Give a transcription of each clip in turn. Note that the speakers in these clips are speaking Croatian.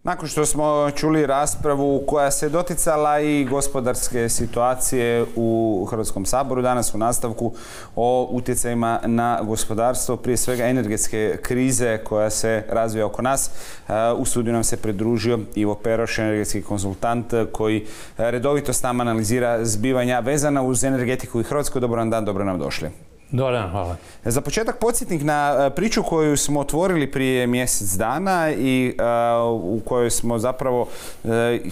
Nakon što smo čuli raspravu koja se doticala i gospodarske situacije u Hrvatskom saboru, danas u nastavku o utjecajima na gospodarstvo, prije svega energetske krize koja se razvija oko nas, u studiju nam se pridružio Ivo Peroš, energetski konzultant koji redovito s nama analizira zbivanja vezana uz energetiku i Hrvatsku. Dobro vam dan, dobro nam došli. Dobar dan, hvala. Za početak podsjetnik na priču koju smo otvorili prije mjesec dana i u kojoj smo zapravo,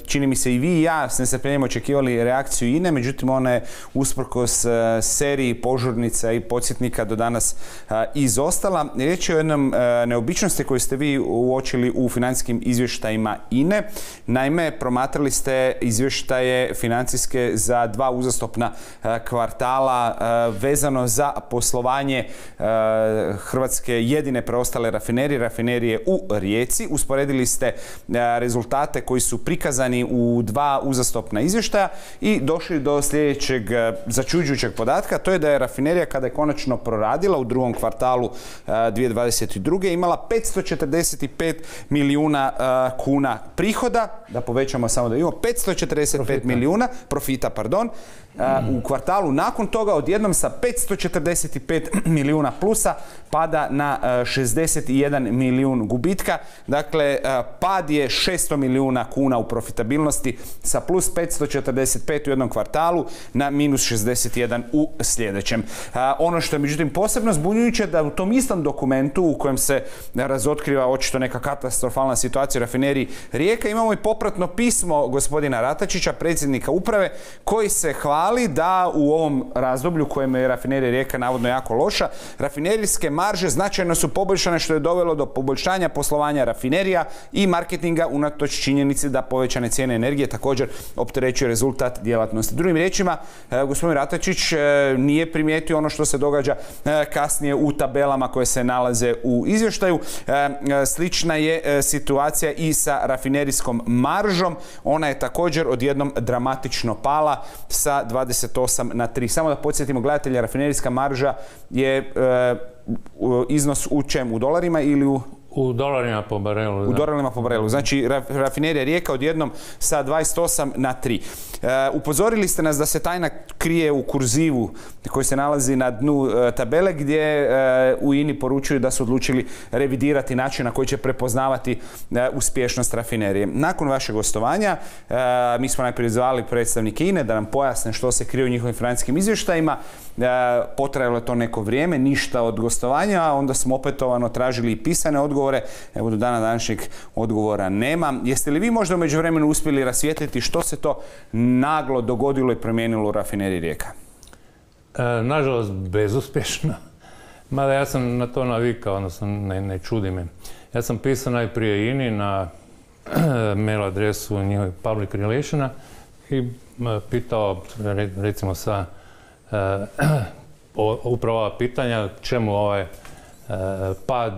čini mi se i vi i ja, s nestrpljenjem očekivali reakciju INA-e, međutim ona je usprkos seriji požurnica i podsjetnika do danas izostala. Riječ je o jednom neobičnosti koju ste vi uočili u financijskim izvještajima INA-e. Naime, promatrali ste izvještaje financijske za dva uzastopna kvartala vezano za poslovanje Hrvatske jedine preostale rafinerije u Rijeci. Usporedili ste rezultate koji su prikazani u dva uzastopna izvještaja i došli do sljedećeg začuđujućeg podatka. To je da je rafinerija, kada je konačno proradila u drugom kvartalu 2022. imala 545 milijuna kuna prihoda. Da povećamo samo da imamo 545 milijuna profita, u kvartalu nakon toga odjednom sa 545 milijuna plusa pada na 61 milijun gubitka. Dakle, pad je 600 milijuna kuna u profitabilnosti sa plus 545 u jednom kvartalu na minus 61 u sljedećem. Ono što je međutim posebno zbunjujuće da u tom istom dokumentu u kojem se razotkriva očito neka katastrofalna situacija u rafineriji Rijeka imamo i popratno pismo gospodina Ratačića, predsjednika uprave, koji se hvali da u ovom razdoblju u kojem je rafinerija Rijeka navodno jako loša, rafinerijske marže značajno su poboljšane, što je dovelo do poboljšanja poslovanja rafinerija i marketinga unatoč činjenici da povećane cijene energije također opterećuje rezultat djelatnosti. Drugim riječima, gospodin Ratačić nije primijetio ono što se događa kasnije u tabelama koje se nalaze u izvještaju. Slična je situacija i sa rafinerijskom maržom. Ona je također odjednom dramatično pala sa 28 na 3. Samo da podsjetimo gledatelja, rafinerijska marža je iznos u čem? U dolarima ili u dolarima po barelu. U dolarima po barelu. Znači, rafinerija Rijeka odjednom sa 28 na 3. Upozorili ste nas da se tajna krije u kurzivu koji se nalazi na dnu tabele, gdje u INA-i poručuju da su odlučili revidirati način na koji će prepoznavati uspješnost rafinerije. Nakon vašeg gostovanja, mi smo najprije zvali predstavnike INA-e da nam pojasne što se krije u njihovim financijskim izvještajima. Potrajalo je to neko vrijeme, ništa od gostovanja, a onda smo opetovano tražili i pisane odgovore. Evo, do dana današnjeg odgovora nema. Jeste li vi možda u međuvremenu uspjeli rasvijetliti što se to naglo dogodilo i promijenilo u rafineriji Rijeka? Nažalost, bezuspješno. Mada ja sam na to navikao, odnosno ne čudi me. Ja sam pisao najprije INA-i na mail adresu njihovih public relationa i pitao, recimo sa upravo ova pitanja, čemu ovaj pad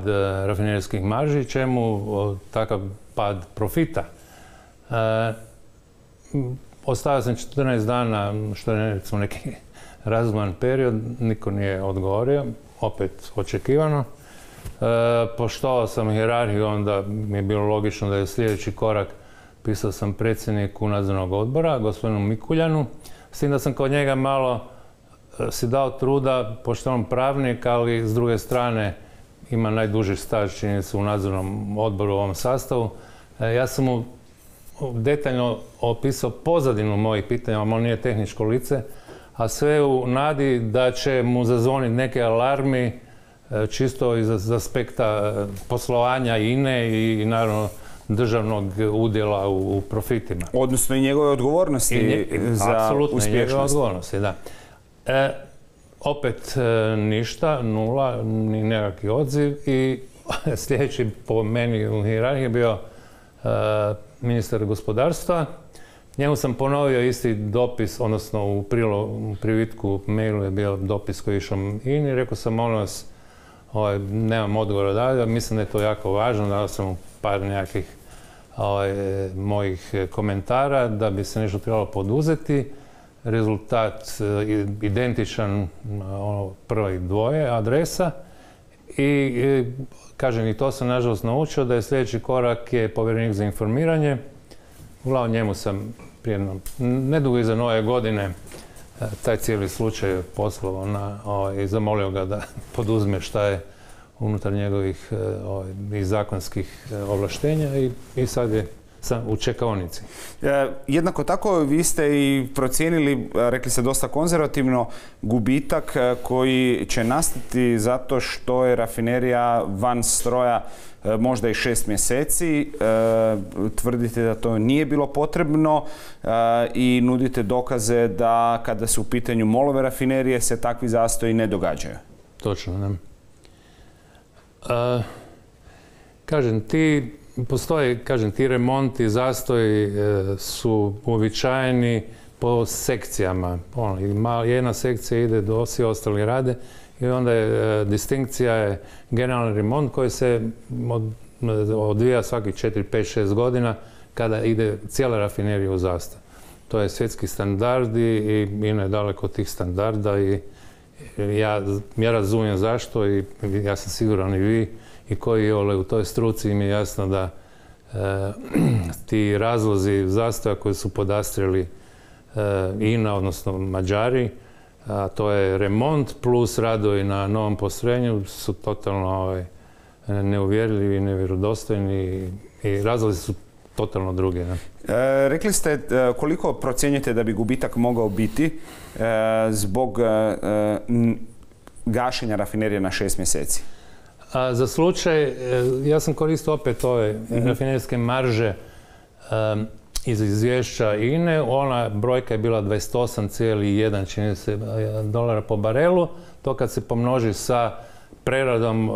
rafinerijskih marži, čemu takav pad profita. Ostavio sam 14 dana, što je recimo neki razuman period, niko nije odgovorio, opet očekivano. Poštovao sam hijerarhiju, onda mi je bilo logično da je sljedeći korak. Pisao sam predsjedniku nadzornog odbora, gospodinu Mikuljanu, s tim da sam kod njega malo si dao truda, pošto je on pravnik, ali s druge strane ima najduži staž, čini se, u nadzornom odboru u ovom sastavu. Ja sam mu detaljno opisao pozadinu mojih pitanja, on nije tehničko lice, a sve u nadi da će mu zazvoniti neke alarmi čisto iz aspekta poslovanja INA-e i naravno državnog udjela u profitima. Odnosno i njegove odgovornosti za apsolutno, uspješnost. Apsolutno, i njegove odgovornosti, da. Opet ništa, nula, ni nekakvi odziv i sljedeći po meni u hijerarhiji je bio ministar gospodarstva. Njemu sam ponovio isti dopis, odnosno u privitku mailu je bio dopis koji je išao INA-i. Rekao sam, molim vas, nemam odgovora dalje, mislim da je to jako važno, dao sam par nekakvih mojih komentara da bi se nešto trebalo poduzeti. Rezultat identičan prvih dvoje adresa I kažem, i to sam nažalost naučio, da je sljedeći korak je povjerenik za informiranje. Uglavnom njemu sam prije nedugo iza nove godine taj cijeli slučaj poslao i zamolio ga da poduzme šta je unutar njegovih i zakonskih ovlaštenja i sad je u čekaonici. Jednako tako vi ste i procijenili, rekli ste dosta konzervativno, gubitak koji će nastati zato što je rafinerija van stroja možda i 6 mjeseci. Tvrdite da to nije bilo potrebno i nudite dokaze da kada su u pitanju molove rafinerije se takvi zastoji ne događaju. Točno, ne. Ti remonti, zastoji su uobičajeni po sekcijama. Jedna sekcija ide do svi ostali rade i onda je distinkcija je generalni remont koji se odvija svaki 4, 5, 6 godina kada ide cijela rafinerija u zastoj. To je svjetski standardi i INA je daleko od tih standarda i ja razumijem zašto i ja sam siguran i vi i koji u toj struci im je jasno da ti razlozi zastoja koji su podastrili INA, odnosno Mađari, a to je remont plus radovi na novom postrojenju, su totalno neuvjerljivi, nevjerodostojni i razlozi su totalno drugi. Ne? Rekli ste koliko procjenjujete da bi gubitak mogao biti zbog gašenja rafinerije na 6 mjeseci? Za slučaj, ja sam koristio opet ove rafinerijske marže iz izvješća INA-e. Ona brojka je bila 28,1 čini se dolara po barelu. To kad se pomnoži sa preradom,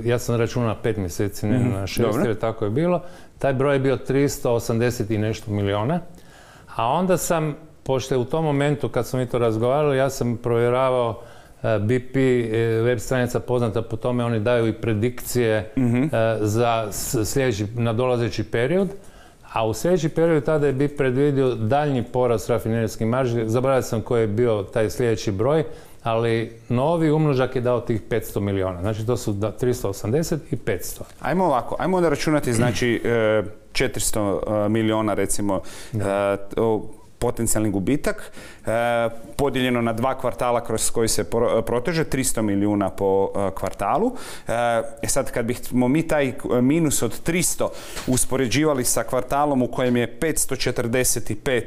ja sam računao na 5 mjeseci, ne na 6, jer tako je bilo. Taj broj je bio 380 i nešto milijuna. A onda sam, pošto je u tom momentu kad smo mi to razgovarali, ja sam provjeravao BP web stranica poznata po tome, oni daju i predikcije za sljedeći nadolazeći period, a u sljedeći period tada je BP predvidio daljnji porast rafinerijskih marži. Zaboravio sam koji je bio taj sljedeći broj, ali novi umnožak je dao tih 500 milijuna. Znači to su 380 i 500. Ajmo ovako, ajmo da računati znači 400 milijuna recimo potencijalni gubitak, podijeljeno na 2 kvartala kroz koji se proteže, 300 milijuna po kvartalu. Sad kad bismo mi taj minus od 300 uspoređivali sa kvartalom u kojem je 545,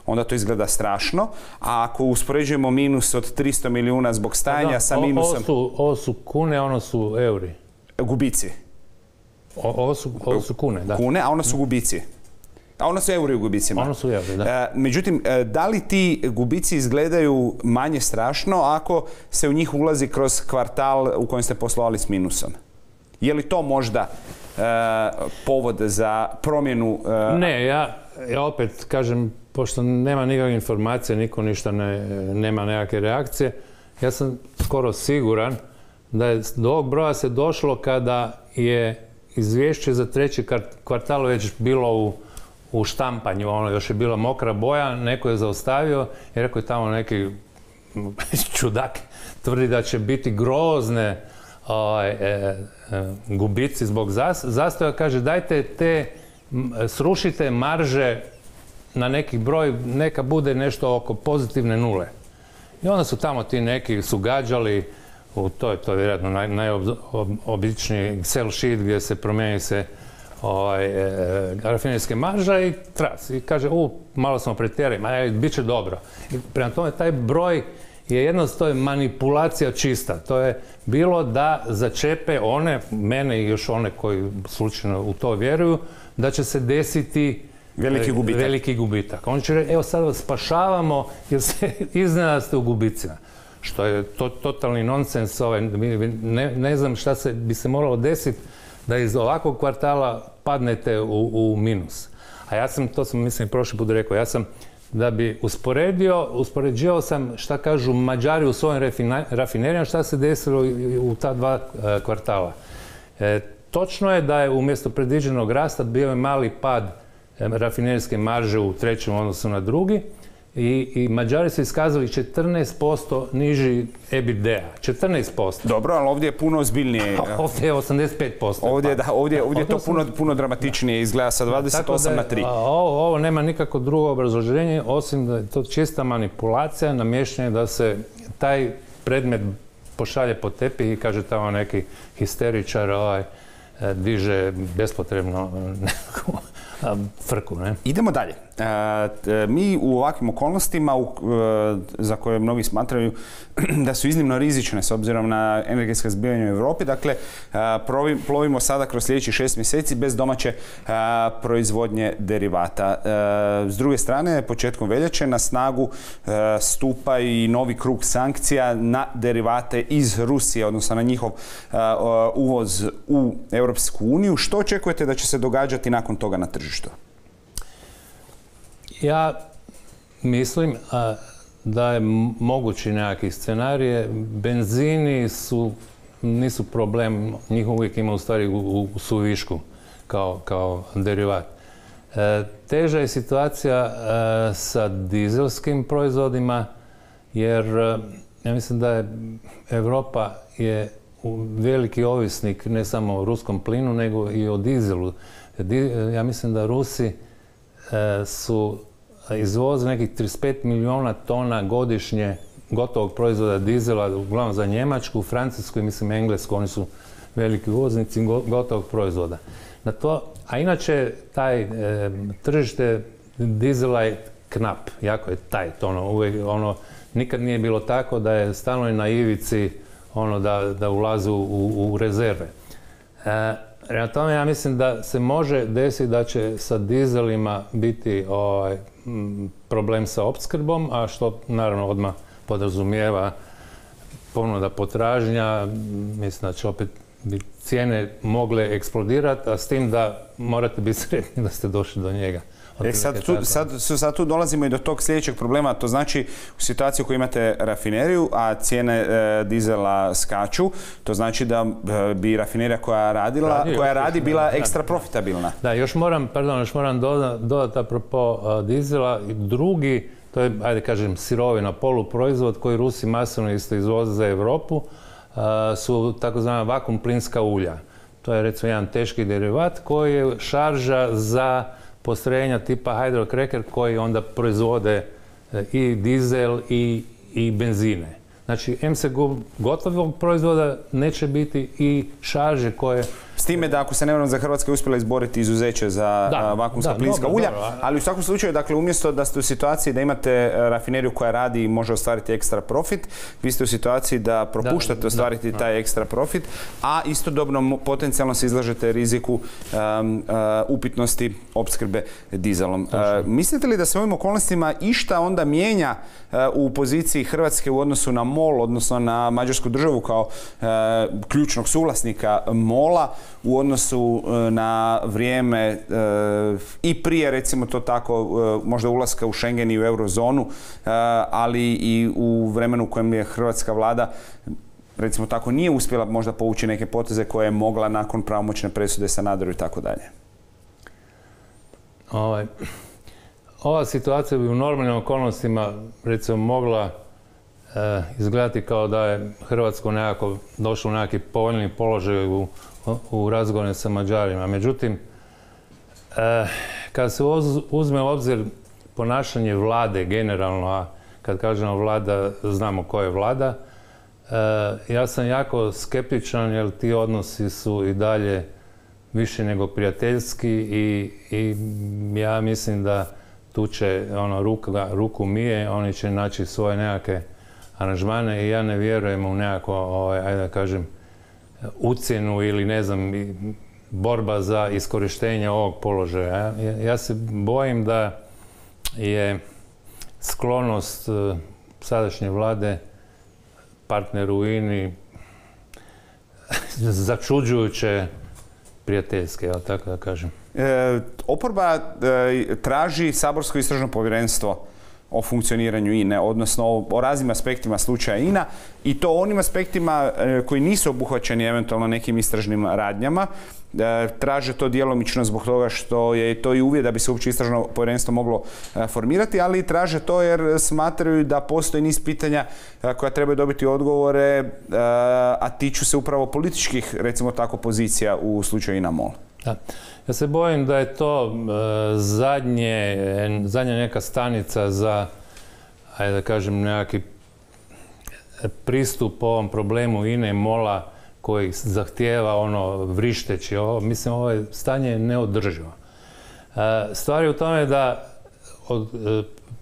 onda to izgleda strašno. A ako uspoređujemo minus od 300 milijuna zbog stajanja sa minusom... Ovo su kune, ono su euri. Gubici. Ovo su kune, da. Kune, a ono su gubici. A ono su euri u gubicima. Ono su euri, da. Međutim, da li ti gubici izgledaju manje strašno ako se u njih ulazi kroz kvartal u kojem ste poslovali s minusom? Je li to možda povod za promjenu? Ne, ja opet kažem, pošto nema nikakve informacije, niko ništa nema nekakve reakcije, ja sam skoro siguran da je do ovog broja se došlo kada je izvješće za treći kvartal već bilo u štampanju, ono još je bila mokra boja, neko je zaustavio i rekao je tamo neki čudak tvrdi da će biti grozne gubici zbog zastoja. Kaže dajte srušite marže na neki broj, neka bude nešto oko pozitivne nule. I onda su tamo ti neki su gađali, to je vjerojatno najobičniji Excel sheet gdje se promijeni se rafinerijske marža i tras. I kaže, malo smo pretjerali, bit će dobro. I prema tome, taj broj je jednostavno manipulacija čista. To je bilo da začepe mene i još one koji slučajno u to vjeruju, da će se desiti veliki gubitak. Oni će reći, evo sad vas spašavamo jer se iznenada ste u gubicima. Što je totalni nonsens. Ne znam šta bi se moralo desiti da iz ovakvog kvartala padnete u minus. A ja sam, to sam mislim prošli put rekao, ja sam da bi uspoređivao sam šta kažu Mađari u svojim rafinerijama, šta se desilo u ta 2 kvartala. Točno je da je umjesto predviđenog rasta bio je mali pad rafinerijske marže u trećem odnosu na drugi I Mađari su iskazali 14% niži EBITDA. 14%. Dobro, ali ovdje je puno ozbiljnije. Ovdje je 85%. Ovdje je to puno dramatičnije, izgleda sa 28 na 3. Ovo nema nikako drugo obrazloženje, osim da je to čista manipulacija, namještanje da se taj predmet pošalje po tepih i kaže tamo neki histeričar diže bespotrebno nekakvu frku. Ne? Idemo dalje. Mi u ovakvim okolnostima za koje mnogi smatraju da su iznimno rizične s obzirom na energetska zbivanja u Europi, dakle plovimo sada kroz sljedećih 6 mjeseci bez domaće proizvodnje derivata. S druge strane, početkom veljače na snagu stupa i novi krug sankcija na derivate iz Rusije, odnosno na njihov uvoz u Europsku uniju. Što očekujete da će se događati nakon toga na tržištu? Ja mislim da je mogući nekakvi scenarije. Benzini nisu problem, njih uvijek ima u stvari u suvišku kao derivat. Teža je situacija sa dizelskim proizvodima, jer ja mislim da je Europa je veliki ovisnik ne samo o ruskom plinu, nego i o dizelu. Ja mislim da Rusi su izvoze nekih 35 milijuna tona godišnje gotovog proizvoda dizela, uglavnom za Njemačku, Francusku i mislim Englesku, oni su veliki uvoznici gotovog proizvoda. A inače, taj tržište dizela je knap, jako je tajt, nikad nije bilo tako da je stalno na ivici da ulaze u rezerve. Prema tome, ja mislim da se može desiti da će sa dizelima biti problem sa opskrbom, a što naravno odmah podrazumijeva ponuda potražnja. Mislim da će opet cijene mogle eksplodirati, a s tim da morate biti sretni da ste došli do njega. Sad tu dolazimo i do tog sljedećeg problema, to znači u situaciji u kojoj imate rafineriju, a cijene dizela skaču, to znači da bi rafinerija koja radi bila ekstra profitabilna. Da, još moram dodati apropo dizela, drugi, to je, ajde kažem, sirovina, poluproizvod koji Rusi masovno isto izvoze za Europu, su takozvana vakuum plinska ulja. To je recimo jedan teški derivat koji je šarža za postrojenja tipa hydrocracker koji onda proizvode i dizel i benzine. Znači, se gotovog proizvoda neće biti i šarže koje... S time da, ako se ne varam, za Hrvatska je uspjela izboriti izuzeće za vakuumska plinska ulja, ali u svakom slučaju, dakle, umjesto da ste u situaciji da imate rafineriju koja radi i može ostvariti ekstra profit, vi ste u situaciji da propuštate ostvariti taj ekstra profit, a istodobno potencijalno se izlažete riziku upitnosti opskrbe dizelom. Mislite li da se u ovim okolnostima išta onda mijenja u poziciji Hrvatske u odnosu na MOL, odnosno na Mađarsku državu kao ključnog suvlasnika MOL-a, u odnosu na vrijeme i prije, recimo to tako, možda ulaska u Schengen i u eurozonu, ali i u vremenu u kojem je hrvatska vlada, recimo tako, nije uspjela možda povući neke poteze koje je mogla nakon pravomoćne presude Sanaderu i tako dalje? Ova situacija bi u normalnim okolnostima, recimo, mogla izgledati kao da je Hrvatsko nekako došlo u neki povoljni položaj u razgovorima sa Mađarima. Međutim, kad se uzme u obzir ponašanje vlade generalno, a kad kažemo vlada, znamo ko je vlada, ja sam jako skeptičan jer ti odnosi su i dalje više nego prijateljski i ja mislim da tu će ruku mije, oni će naći svoje nekakve aranžmane i ja ne vjerujem u nekako, ajde da kažem, ucjenu ili ne znam, borba za iskorištenje ovog položaja. Ja se bojim da je sklonost sadašnje vlade partneru u INA-i začuđujuće prijateljske, tako da kažem. Oporba traži saborsko istražno povjerenstvo o funkcioniranju INA-e, odnosno o raznim aspektima slučaja INA i to onim aspektima koji nisu obuhvaćeni eventualno nekim istražnim radnjama. Traže to djelomično zbog toga što je to i uvjet da bi se uopće istražno povjerenstvo moglo formirati, ali traže to jer smatraju da postoji niz pitanja koja trebaju dobiti odgovore, a tiču se upravo političkih, recimo tako, pozicija u slučaju INA-MOL. Da. Ja se bojim da je to zadnja neka stanica za, ajde da kažem, nekakvi pristup ovom problemu INA-e i MOL-a koji zahtijeva ono vrišteći. Mislim, ovo stanje je neodrživo. Stvar je u tome da od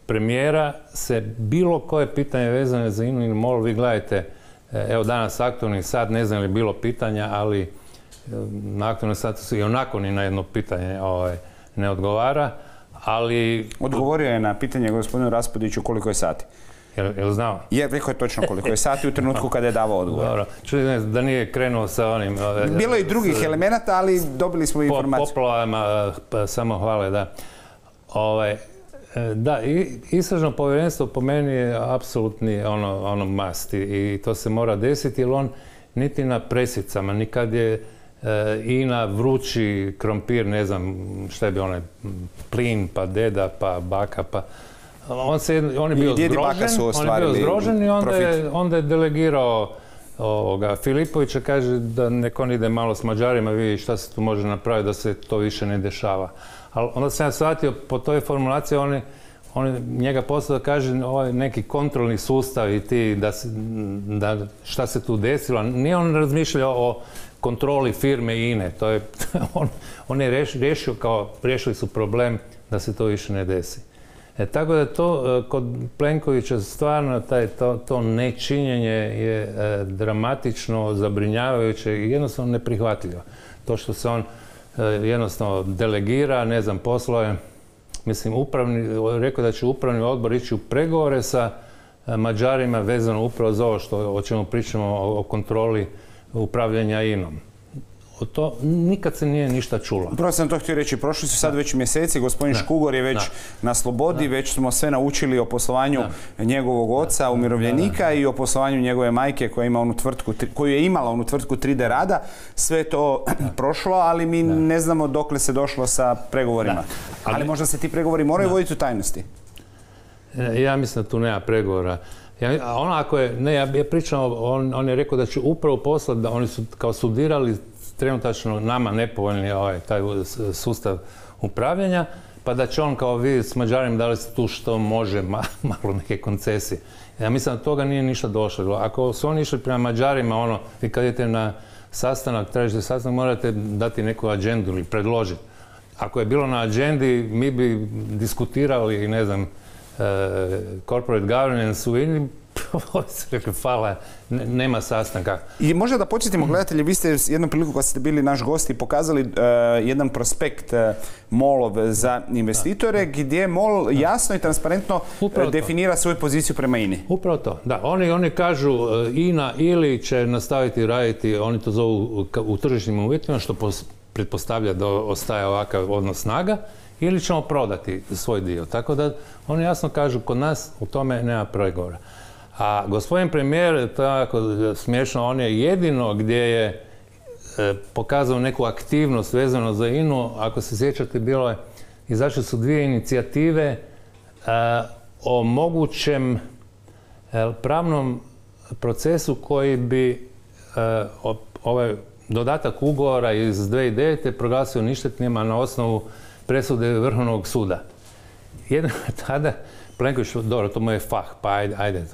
premijera se bilo koje pitanje vezane za INA-u ili MOL, vi gledajte, evo danas aktualni sat, ne znam li je bilo pitanja, ali na aktualnom satu su i onako ni na jedno pitanje ne odgovara, ali... Odgovorio je na pitanje gospodinu Raspudiću koliko je sati. Jel znao? Rekao je točno koliko je sati u trenutku kada je davao odgovor. Dobro, čuli da nije krenuo sa onim... Bilo je i drugih elemenata, ali dobili smo informaciju. Poplavama, samo hvale, da. Da, istražno povjerenstvo po meni je apsolutni ono must i to se mora desiti, jer on niti na presicama, nikad je INA vrući krompir, ne znam šta je bio onaj plin, pa deda, pa baka, pa... On je bio zgrožen i onda je delegirao Filipovića, kaže da nek on ide malo s Mađarima, vidi šta se tu može napraviti da se to više ne dešava. Ali onda sam ja shvatio po toj formulaciji, on njega poslao da kaže neki kontrolni sustav i ti da šta se tu desilo. Nije on razmišljao o kontroli firme INA-e. On je riješili su problem da se to više ne desi. Tako da to kod Plenkovića stvarno to nečinjenje je dramatično, zabrinjavajuće i jednostavno neprihvatljivo. To što se on jednostavno delegira, ne znam, poslove, mislim, rekao da će upravni odbor ići u pregovore sa Mađarima vezano upravo za ovo o čemu pričamo o kontroli upravljanja INA-om. To nikad se nije ništa čulo. Upravo sam to htio reći, prošli su sad već mjeseci, gospodin Škugor je već na slobodi, već smo sve naučili o poslovanju njegovog oca, umirovljenika i o poslovanju njegove majke koju je imala onu tvrtku 3D Rada. Sve je to prošlo, ali mi ne znamo dokle se došlo sa pregovorima. Ali možda se ti pregovori moraju voditi u tajnosti. Ja mislim da tu nema pregovora. Ja pričam, on je rekao da će upravo poslati, da oni su kao studirali trenutačno nama nepovoljni taj sustav upravljanja, pa da će on kao vidjeti s Mađarima da li se tu što može malo neke koncesije. Ja mislim da toga nije ništa došlo. Ako su oni išli prema Mađarima, vi kad idete na sastanak, tražite sastanak, morate dati neku agendu ili predložiti. Ako je bilo na agendi, mi bi diskutirali, ne znam, corporate governance u INA-i, hvala, nema sastanka. I možda da podsjetimo gledatelji, vi ste jednom priliku kad ste bili naš gost i pokazali jedan prospekt MOL-ov za investitore gdje MOL jasno i transparentno definira svoju poziciju prema INA-i. Upravo to, da. Oni kažu INA ili će nastaviti raditi, oni to zovu u tržišnim uvjetima, što pretpostavlja da ostaje ovakav odnos snaga, ili ćemo prodati svoj dio. Tako da oni jasno kažu, kod nas u tome nema pregovora. A gospodin premijer, to je jako smiješno, on je jedino gdje je pokazao neku aktivnost vezano za INA-u. Ako se sjećate, izašle su dvije inicijative o mogućem pravnom procesu koji bi ovaj dodatak ugovora iz 2009. proglasio ništetnima na osnovu presude Vrhovnog suda. Jedno tada Plenković, dobro, to mu je fah, pa ajde,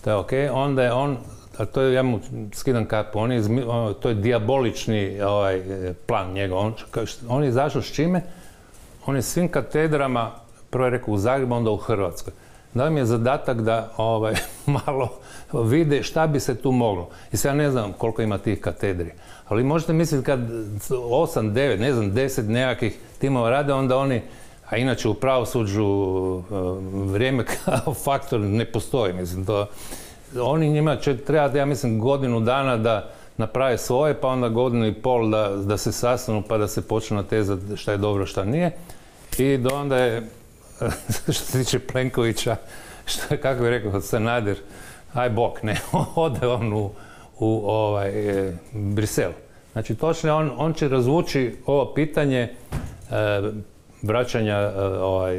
to je okej. Onda je on, a to je, ja mu skidam kapu, to je dijabolični plan njegov. On je izašao s čime? On je svim katedrama, prvo je rekao u Zagrebu, onda u Hrvatskoj. Dao mi je zadatak da malo vide šta bi se tu moglo. I sad ja ne znam koliko ima tih katedri. Ali možete misliti kad 8, 9, ne znam, 10 nekakvih timova rade, onda oni, a inače u pravosuđu vrijeme kao faktor ne postoji, mislim, oni njima će trebati, ja mislim, godinu dana da naprave svoje, pa onda godinu i pol da se sastanu, pa da se počnu natezati šta je dobro, šta nije. I onda je što se tiče Plenkovića, što je, kako bi rekao Sanader, aj bok, ne, ode on u Brisel. Znači, točno on će razvući ovo pitanje vraćanja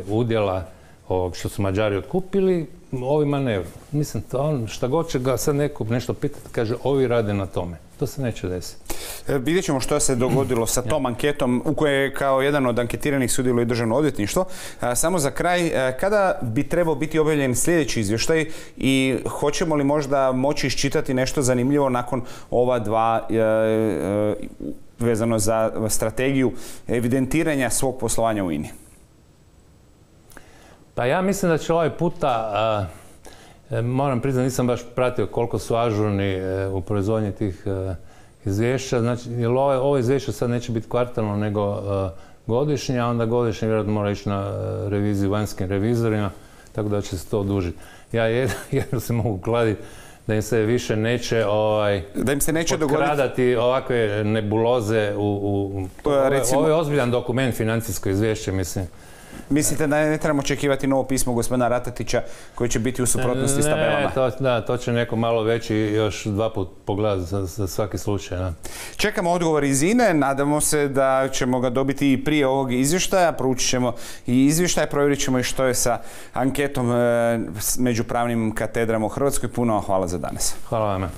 udjela ovog što su Mađari otkupili ovim manevrom. Mislim, šta god će ga sad neko nešto pitati, kaže, ovi rade na tome. To se neće desiti. Vidjet ćemo što se dogodilo sa tom anketom u kojoj je kao jedan od anketiranih sudjeluje Državno odvjetništvo. Samo za kraj, kada bi trebao biti objavljen sljedeći izvještaj i hoćemo li možda moći iščitati nešto zanimljivo nakon ova dva vezano za strategiju evidentiranja svog poslovanja u INA-i? Pa ja mislim da će ovaj puta, moram priznati, nisam baš pratio koliko su ažurni u proizvodnji tih izvješća. Znači, jer ovo izvješće sad neće biti kvartalno nego godišnje, a onda godišnje vjerojatno mora ići na reviziju vanjskim revizorima, tako da će se to odužiti. Ja jedno se mogu kladiti da im se više neće da im se neće potkradati ovakve nebuloze ovo je ozbiljan dokument, financijsko izvješće, mislim. Mislite da ne trebamo očekivati novo pismo gospodina Ratatića koji će biti u suprotnosti s tabelama? To će neko malo veći još 2 put pogledati za svaki slučaj. Da. Čekamo odgovor iz INA-e, nadamo se da ćemo ga dobiti i prije ovog izvještaja, proučit ćemo i izvještaj, provjerit ćemo i što je sa anketom među pravnim katedrama u Hrvatskoj. Puno hvala za danas. Hvala vam.